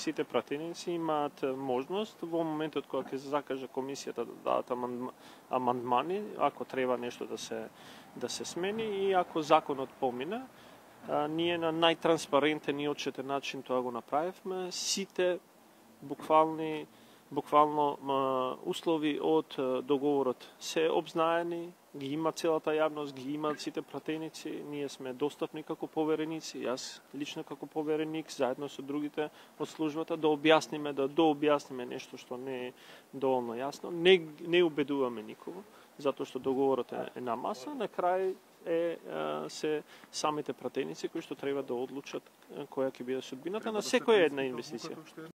сите пратеници имаат можност во моментот кога ќе закаже комисијата да дадат амандмани, ако треба нешто да се смени и ако законот помине, ние на најтранспарентен и отчетен начин тоа го направивме. Сите буквално услови од договорот се обзнаени, ги има целата јавност, ги имаат сите пратеници, ние сме достапни како повереници, јас лично како повереник, заедно со другите од службата, да дообјасниме нешто што не е доволно јасно. Не убедуваме никого, затоа што договорот е на маса, на крај се самите пратеници кои што треба да одлучат која ќе биде судбината на секоја една инвестиција.